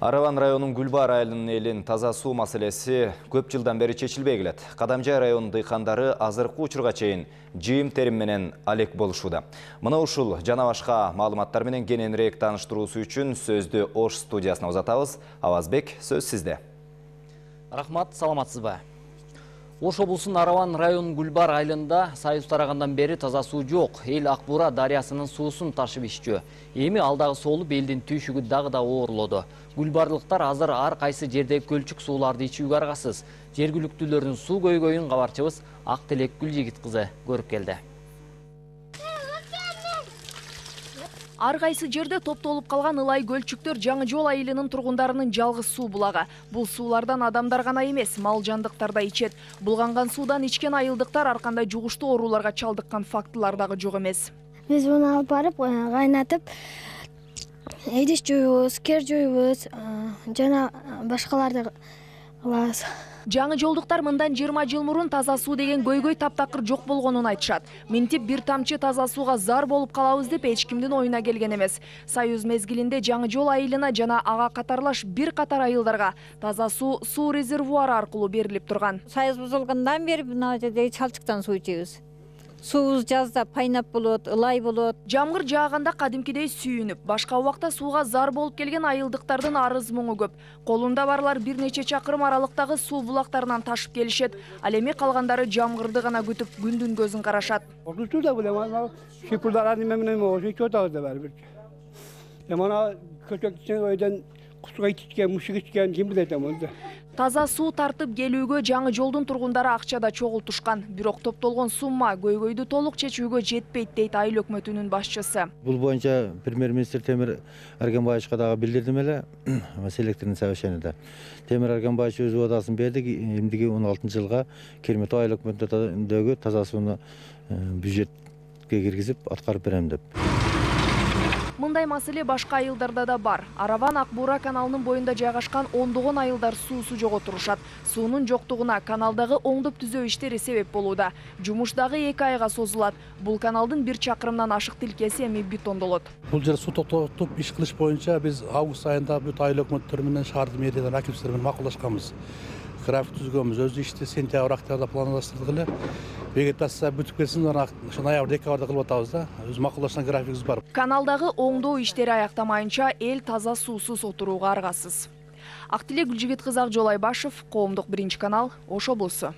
Араван районунун Гүлбар айылынын элин таза суу маселеси көп жылдан бери чечилбей келет. Кадамжай районунун дыйкандары азыркы учурга чейин жыйым терим менен алек болушууда. Мына ушул жана башка маалыматтар менен кененирээк тааныштыруусу үчүн сөздү Ош студиясына узатабыз. Авазбек, сөз сизде. Рахмат, саламатсызбы? Ош облусунун Араван районунун Гүлбар айылында Союз тарагандан бери таза суу жок. Эл Акбура дарыясынын суусун ташып иччү. Эми алдагы соолуп элдин түйшүгү дагы да оорлоду. Гүлбарлыктар азыр ар кайсы жерде көлчүк сууларды ичүүгө аргасыз. Жергиликтүүлөрдүн суу көйгөйүн кабарчыбыз Актилек Гүлжигит кызы көрүп келди. Ар кайсы жерде топтолуп калган ылай көлчүктөр Жаңы Жол айылынын тургундарынын жалгыз суу булагы. Бул суулардан адамдар гана эмес, мал жандыктар да ичет. Булганган суудан ичкен айылдыктар ар кандай жугуштуу ооруларга чалдыккан фактылар дагы жок эмес. Биз муну алып барып, кайнатып, эдиш жуйбуз, кер жуйбуз, жана башкаларды кылабыз. Жаңы жолдуктар мындан 20 жыл мурун таза суу деген көйгөй таптакыр жок болгонун айтышат. Минтип бир тамчы таза сууга зар болуп калабыз деп эч кимдин оюна келген эмес. Союз мезгилинде Жаңы Жол айылына жана ага катарлаш бир катар айылдарга таза суу резервуары аркылуу берилип турган. Союз бузулгандан бери мына жерде чалчыктан суу ичебиз. Суубуз жазда пайнап болот, ылай болот. Жамгыр жааганда кадимкидей сүйүнүп, башка убакта сууга зар болуп келген айылдыктардын арыз муңу көп. Колунда барлар бир нече чакырым аралыктагы суу булактарынан ташып келишет. Ал эми калгандары жамгырды гана күтүп, күндүн көзүн карашат. Суда билем, шипулдар менен ошо чотабыз да бар бир. Мана көчөктүн ойдон кусуга ичкен, мушук ичкен ким билет эмне. Таза суу тартып келүүгө Жаңы Жолдун тургундары акчада чогултушкан. Бирок топтолгон сумма көйгөйдү толук чечүүгө жетпейт дейт айыл өкмөтүнүн башчысы. Бул боюнча премьер-министр Темир Аргенбаевичке дагы билдирдим эле селекторный совещаниеде. Темир Аргенбаевич өз убадасын берди, эмдиги 16-жылга Керметов айыл өкмөтүндөгү таза сууну бюджетке киргизип аткарып берем деп. Мындай маселе башка айылдарда да бар. Араван Акбура каналынын боюнда жайгашкан ондогон айылдар суусу жок отурушат. Суунун жоктугуна каналдагы оңдоп түзөө иштери себеп болууда. Жумуш дагы 2 айга созулат. Бул каналдын 1 чакырымдан ашык тилкеси эми бетондолот. Бул жер суу токтотуп иш кылыш боюнча биз август айында бүт айыл өкмөттөрү менен шаардын мэриялар акимдиктери менен макулдашканбыз. График түзгөнбүз, өз ишти сентябрь, октябрда пландаштырдык эле. Вегетация бүтүп кетсин, ошо ноябрь, декабрда кылып атабыз да. Өз макулдашкан графигибиз бар. Каналдагы оңдоо иштери аяктамайынча эл таза суусуз отурууга аргасыз. Актилек Гүлжигит кызы, Ак Жол Айбашев, Коомдук 1 канал, Ош облусу.